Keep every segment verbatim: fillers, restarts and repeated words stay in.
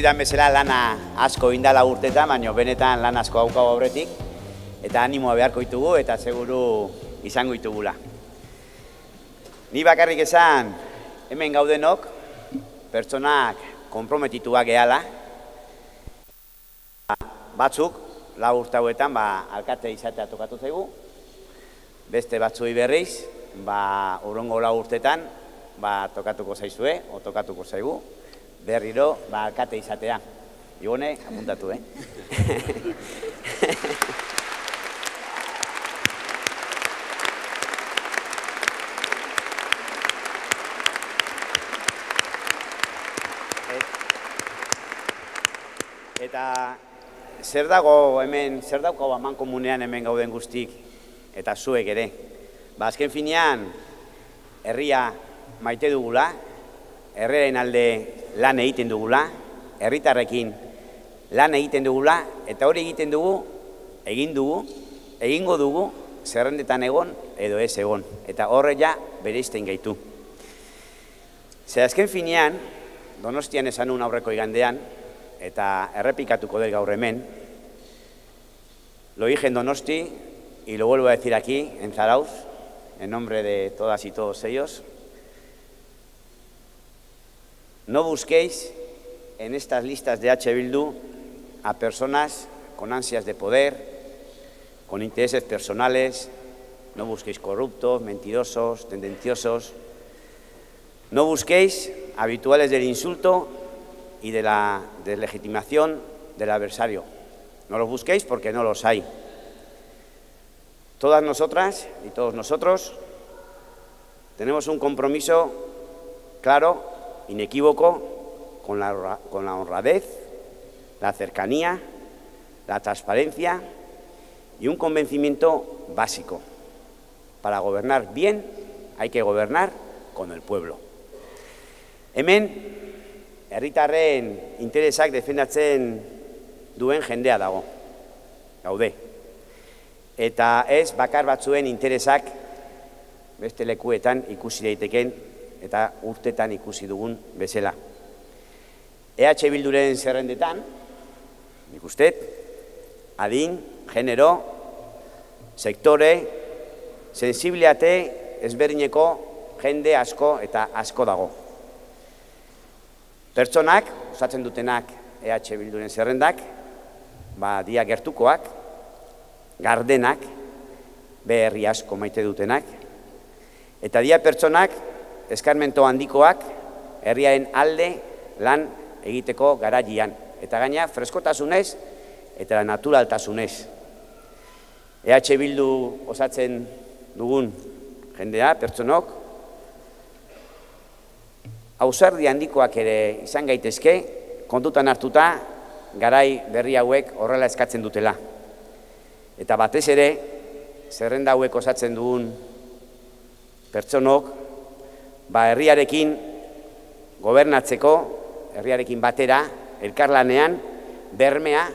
dudan bezala lana asko indala urtetan, baina benetan lan asko haukago aurretik, eta animoa beharko ditugu eta seguru izango ditugula. Ni bakarrik esan, hemen gaudenok, pertsonak konprometituak gehala, batzuk, lau urte hauetan, alkate izatea tokatu zaigu, beste batzui berriz, urrongo lau urtetan, tokatuko zaizue, o tokatuko zaigu, berriro, alkate izatea. Ibone, apuntatu, eh? Eta zer dago hemen, zer daukago aman komunean hemen gauden guztik, eta zuek ere. Ba, azken finean, herria maite dugula, herriaren alde lan egiten dugula, herritarrekin lan egiten dugula, eta hori egiten dugu, egin dugu, egingo dugu, zerrendetan egon edo ez egon. Eta horre ja bereizten gaitu. Zer azken finean, Donostian esan un aurreko igandean, eta errepikatuko del gaur hemen, lo dije en Donosti y lo vuelvo a decir aquí, en Zarauz, en nombre de todas y todos ellos. No busquéis en estas listas de H. Bildu a personas con ansias de poder, con intereses personales, no busquéis corruptos, mentirosos, tendenciosos, no busquéis habituales del insulto y de la deslegitimación del adversario. No los busquéis porque no los hay. Todas nosotras y todos nosotros tenemos un compromiso claro, inequívoco, con la, con la honradez, la cercanía, la transparencia y un convencimiento básico. Para gobernar bien hay que gobernar con el pueblo. Hemen, herritarren interesak defendatzen duen jendea dago, gaude. Eta ez bakar batzuen interesak beste lekuetan ikusi daiteken eta urtetan ikusi dugun bezala. E H Bilduren zerrendetan, nik uste, adin, genero, sektore, sensibilitate ezberdineko jende asko eta asko dago. Pertsonak, osatzen dutenak E H Bilduren zerrendak, ba, dia gertukoak, gardenak, beherri asko maite dutenak, eta dia pertsonak, eskarmento handikoak, herriaren alde lan egiteko garaian, eta gaina freskotasunez eta naturaltasunez. E H Bildu osatzen dugun jendea, pertsonok, ausardi handikoak ere izan gaitezke, kontutan hartuta, garai berri hauek horrela eskatzen dutela. Eta batez ere, zerrenda hauek osatzen dugun pertsonok, ba herriarekin gobernatzeko, herriarekin batera, elkarlanean, bermea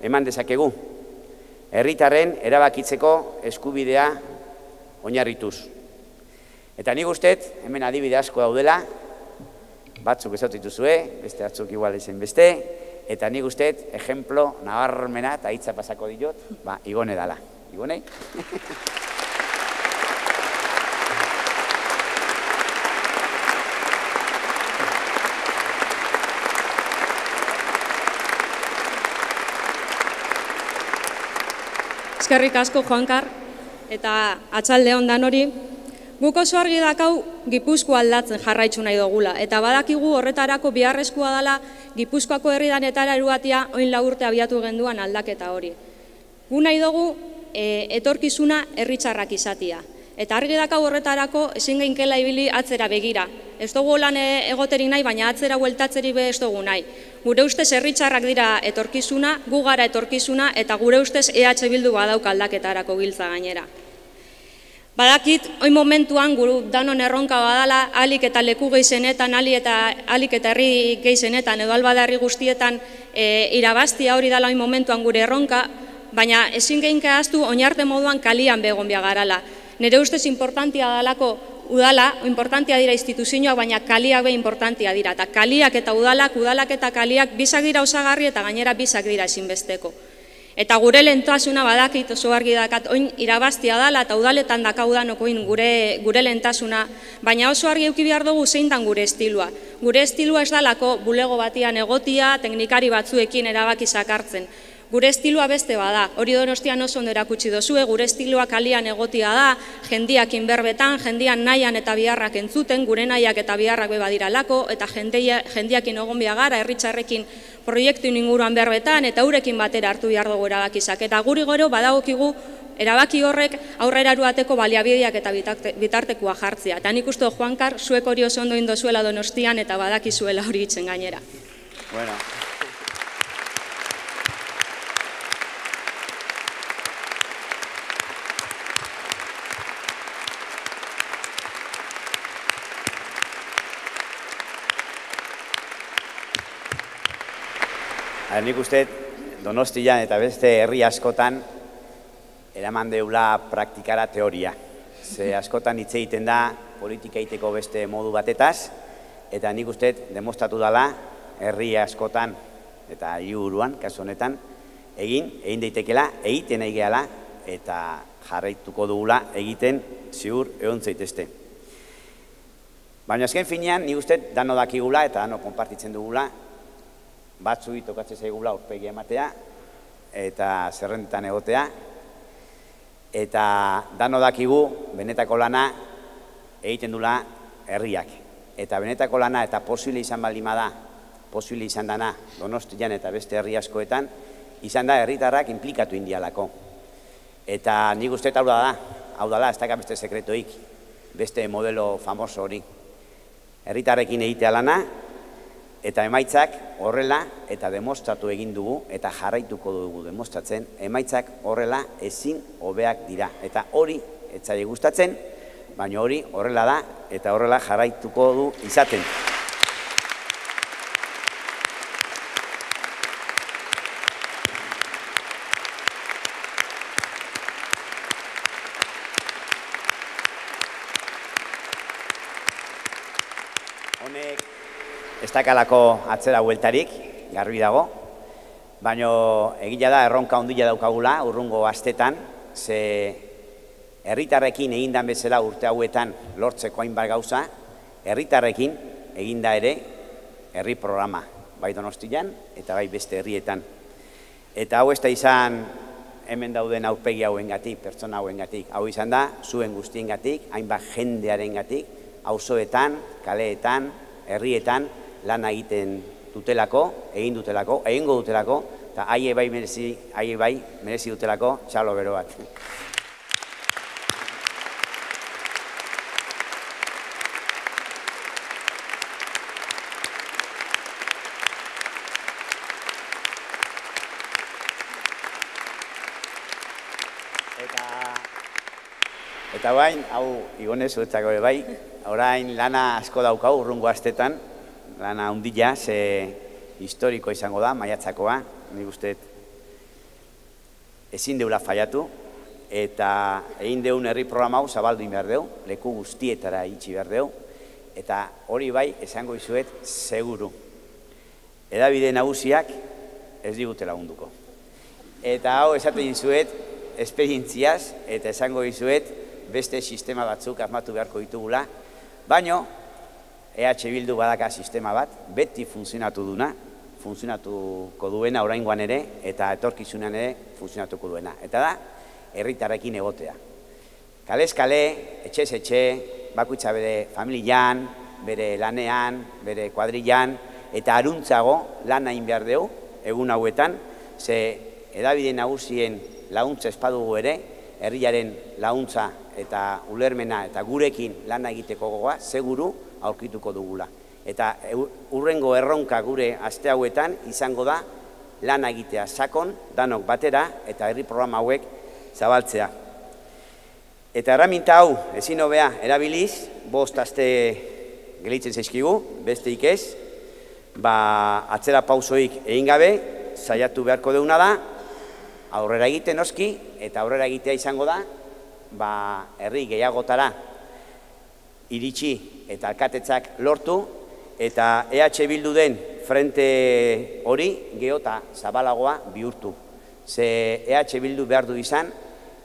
eman dezakegu. Herritarren erabakitzeko eskubidea oinarrituz. Eta nik usteet, hemen adibide asko daudela, batzuk ezautu dituzue, beste batzuk igual ezen beste, eta nik usteet, ejemplo, nabarmena eta hitza pasako diot, ba, Igone dala. Igone? Eskerrik asko, Juankar, eta atxalde ondan hori. Guk oso argi dakau Gipuzkoa aldatzen jarraitzu nahi dugula, eta badakigu horretarako biharrezkoa dela Gipuzkoako herridanetara eruatia oin lau urte abiatu genduan aldaketa hori. Gu nahi dugu etorkizuna herritarrak izatia, eta argi dakau horretarako ezin geinkela ibili atzera begira. Ez dugu lan egoterik nahi, baina atzera bueltatzeri be ez dugu nahi. Gure ustez herritarrak dira etorkizuna, gu gara etorkizuna, eta gure ustez E H Bildu badauk aldaketarako giltza gainera. Badakit, oin momentuan guru danon erronka badala, alik eta leku geizenetan, alik eta herri geizenetan, edo albada herri guztietan irabaztia hori dala oin momentuan gure erronka, baina ezin geinka aztu oinarte moduan kalian begon biagarala. Nire ustez importantia dalako udala, importantia dira instituzioak, baina kaliak be importantia dira. Eta kaliak eta udalak, udalak eta kaliak bisak dira osagarri eta gainera bisak dira ezinbesteko. Eta gure lehentasuna badakit oso argi dakat, oin irabaztia dala eta udaletan dakaudanok oin gure, gure lehentasuna, baina oso argi euki behar dugu zein dan gure estilua. Gure estilua ez dalako bulego batian egotia, teknikari batzuekin erabaki sakartzen. Gure estilua beste bada, hori Donostian oso ondo erakutsi dozue, gure estilua kalian egotia da, jendiak inberbetan, jendian nahian eta biharrak entzuten, gure nahiak eta biharrak beba diralako, eta jendiakin egon biagara, herritxarrekin proiektu inguruan berbetan, eta urekin batera hartu behar dugu erabakizak. Eta guri gero badagokigu erabaki horrek aurrera eruateko baliabideak eta bitartekoa jartzea. Eta nik uste Juankar, zuek hori oso ondo indozuela Donostian eta badakizuela hori itzen gainera. Bueno. Nik uste Donostian eta beste herri askotan eraman deula praktikara teoria. Ze askotan hitz egiten da politika egiteko beste modu batetaz, eta nik uste demostratu dela herri askotan eta hiruburuan, kasu honetan, egin, egin daitekela, egiten nahi gehala, eta jarraituko dugula egiten ziur egon zaitezte. Baina azken finean, nik uste dano dakigula eta dano konpartitzen dugula, batzui tokatzen zaigula aurpegi ematea eta zerrendetan egotea, eta dano dakigu benetako lana egiten dula herriak. Eta benetako lana eta posible izan baldin bada, posible izan dana Donostian eta beste herri askoetan, izan da herritarrak inplikatu indialako. Eta nik uste hau da, hau dala, ez daka beste sekretoik, beste modelo famoso hori. Herritarrekin egitea lana, eta emaitzak horrela eta demostratu egin dugu eta jarraituko dugu demostratzen, emaitzak horrela ezin hobeak dira. Eta hori etzaile gustatzen, baina hori horrela da eta horrela jarraituko du izaten. Honek ez dakalako atzera bueltarik, garbi dago, baina egia da erronka ondila daukagula urrungo astetan, ze herritarrekin egindan bezala urte hauetan lortzeko hainbat gauza, herritarrekin eginda ere herri programa, bai Donostian eta bai beste herrietan. Eta hau ez da izan hemen dauden aurpegi hauengatik, pertsona hauengatik, hau izan da zuen guztiengatik, hainbat jendearengatik, auzoetan, kaleetan, herrietan, lan egiten dutelako, egin dutelako, egingo dutelako, eta haie bai merezi, haie bai merezi dutelako txalo bero bat. Eta, eta bain, hau Igone zuetzako bai, orain lana asko daukau urrungo astetan, lana hundila, ze historiko izango da, maiatzakoa, nik uste ezin deula faiatu, eta egin deun herri programa hau zabaldu behar deu, leku guztietara itxi behar deu, eta hori bai esango izuet seguru. Hedabide nagusiak ez digute lagunduko. Eta hau esaten izuet esperientziaz, eta esango izuet beste sistema batzuk asmatu beharko ditugula, baino E H Bildu badaka sistema bat, beti funtzionatu duna, funtzionatuko duena oraingoan ere, eta etorkizunan ere funtzionatuko duena. Eta da, herritarrekin egotea. Kalez kale, etxez etxe, bakoitza bere familian, bere lanean, bere kuadrillan, eta aruntzago lan egin behar dugu, egun hauetan, ze hedabide nagusien laguntza espadugu ere, herriaren laguntza eta ulermena eta gurekin lan egiteko gogoa, seguru aurkituko dugula. Eta urrengo erronka gure aste hauetan izango da lan egitea sakon, danok batera, eta herri programa hauek zabaltzea. Eta erraminta hau, ezin hobea erabiliz, bost aste gelitzen zaizkigu, besteik ez, ba, atzera pausoik egin gabe, saiatu beharko deuna da, aurrera egiten noski, eta aurrera egitea izango da, ba, herri gehiagotara iritsi eta alkatetzak lortu, eta E H Bildu den frente hori geota zabalagoa bihurtu. Ze E H Bildu behar du izan,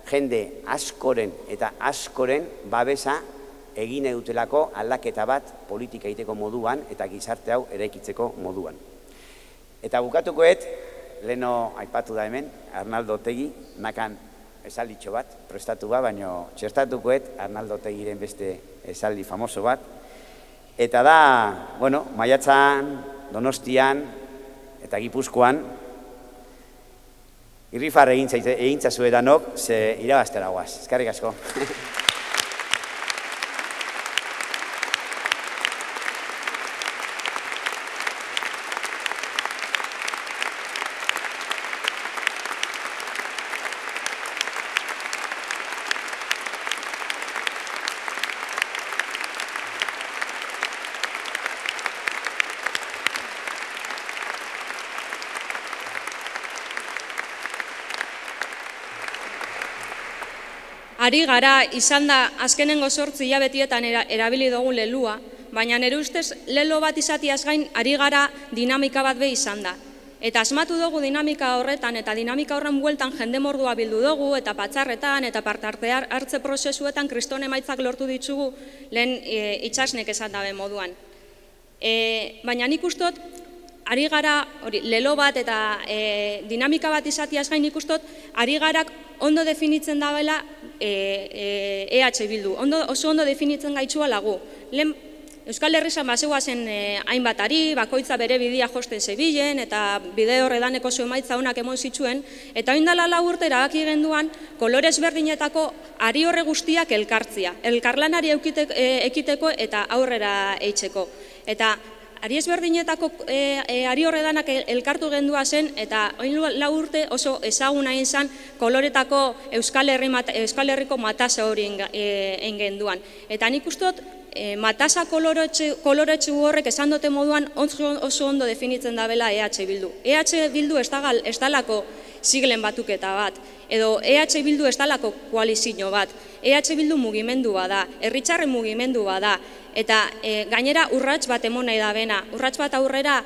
jende askoren eta askoren babesa egin edutelako aldaketa bat politika egiteko moduan eta gizarte hau eraikitzeko moduan. Eta bukatukoet, leheno aipatu da hemen, Arnaldo Otegi, nakan esalditxo bat, prestatu ba, baino txertatukoet Arnaldo Otegiren beste esaldi famoso bat. Eta da, bueno, Maiatzan, Donostian eta Gipuzkoan, irrifar egintzazue danok, ze irabaztera guaz. Eskerrik asko. Ari gara, izan da, azkenengo zortzi hilabetietan erabili dugu lelua, baina nire ustez lelo bat izatiaz gain, ari gara dinamika bat be izan da. Eta asmatu dugu dinamika horretan, eta dinamika horren bueltan jende mordua bildu dugu, eta patzarretan, eta parte hartze prozesuetan kriston emaitzak lortu ditugu lehen itxasnek esan dabe moduan. Baina nik ustot, ari gara, lelo bat eta dinamika bat izatiaz gain nik ustot, ari garak ondo definitzen dabela E H Bildu, oso ondo definitzen gaitxua lagu. Euskal Herrizan basegoa zen hainbatari, bakoitza bere bidea josten zebilen, eta bide horredaneko oso emaitza honak emon zituen, eta oindala lau urte erabaki genduan, kolorez berdinetako ari horre guztiak elkartzia, elkarlanari ekiteko eta aurrera eitzeko. Eta ari ezberdinetako ari horredanak elkartu gendua zen, eta oin lau urte oso ezaguna izan koloretako Euskal Herriko matasa hori egin genduan. Eta nik ustot, matasa koloretsu horrek esan dute moduan oso ondo definitzen dabela E H Bildu. E H Bildu ez dalako siglen batuketa bat, edo E H Bildu ez dalako koalizio bat. E H Bildu mugimendu bada, herritarren mugimendu bada, eta gainera urrats bat emon nahi da bena, urrats bat aurrera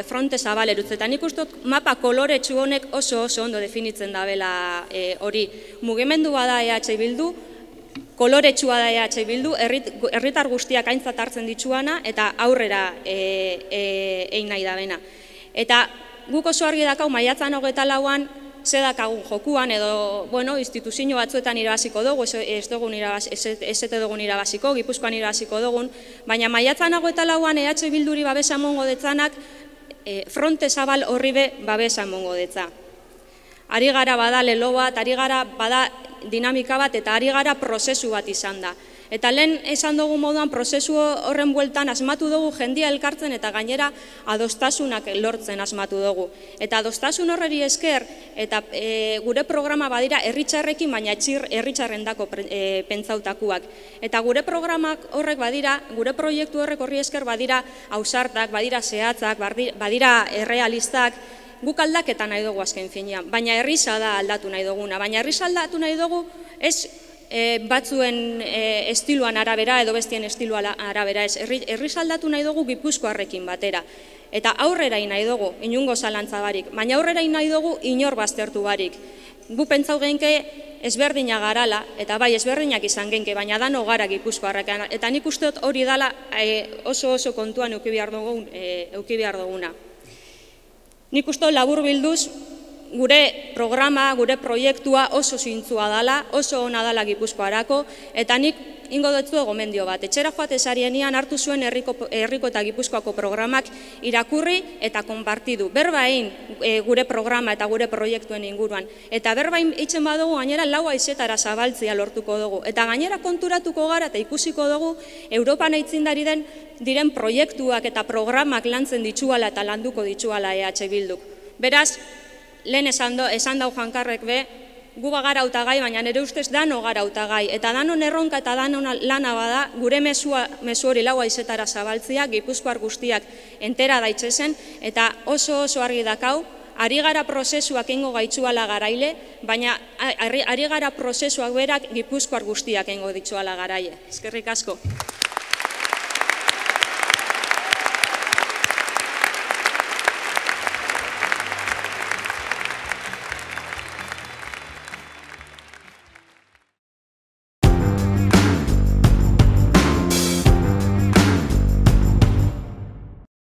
fronte zabalerutz, eta nik ustot mapa koloretsu honek oso oso ondo definitzen dabela hori. Mugimendu bada E H Bildu, koloretsua da E H Bildu, herritar guztiak aintzat hartzen dituana, eta aurrera egin nahi da bena. Eta guk oso argi dakau maiatzan hogeita lauan, ze dakagun jokuan, edo, bueno, instituzio batzuetan irabaziko dugu, ez ete dugun irabaziko, Gipuzkoan irabaziko dugun, baina maiatzan hogeita lauan E H Bilduri babesa mongo detzanak, fronte zabal horri be babesa mongo detza. Ari gara bada lelo bat, ari gara bada dinamika bat, eta ari gara prozesu bat izan da. Eta lehen esan dugu moduan prozesu horren bueltan asmatu dugu jendia elkartzen eta gainera adostasunak lortzen asmatu dugu. Eta adostasun horreri esker, eta gure programa badira herritxarrekin, baina herritxarren dako pentsautakuak. Eta gure programak horrek badira, gure proiektu horrek horri esker badira ausartak, badira zehatzak, badira errealistak, guk aldaketa nahi dugu azken finean, baina herriza da aldatu nahi duguna, baina herriza aldatu nahi dugu ez batzuen estiloan arabera edo bestien estiloan arabera ez, herriza aldatu nahi dugu Gipuzkoarrekin batera. Eta aurrera nahi dugu, inungo zalantza barik, baina aurrera nahi dugu inor baztertu barik. Gu pentsau genke ezberdina garala, eta bai ezberdinak izan genke, baina dano gara Gipuzkoarrekan, eta nik usteot hori dala oso oso kontuan euki behar duguna. Nik uste labur bilduz, gure programa, gure proiektua oso zintzua dala, oso ona dala Gipuzkoarako, eta nik ingo dutzu gomendio bat. Etxera joate sarienian hartu zuen herriko eta Gipuzkoako programak irakurri eta konpartidu. Berbain gure programa eta gure proiektuen inguruan. Eta berbain itzen badugu gainera lau haizetara zabaltzia lortuko dugu. Eta gainera konturatuko gara eta ikusiko dugu Europan aitzindari den diren proiektuak eta programak lantzen dituala eta landuko dituala E H Bilduk. Beraz, lehen esan dau Jankarrek be, gu bagara hautagai, baina nire ustez dano gara hautagai. Eta danon erronka eta danon lana bada, gure mezu hori lau haizetara zabaltzia, Gipuzkoar guztiak entera daitzezen, eta oso oso argi dakau, ari gara prozesuak ingo gaitzuala garaile, baina ari gara prozesuak berak Gipuzkoar guztiak ingo ditzuala garaile. Eskerrik asko.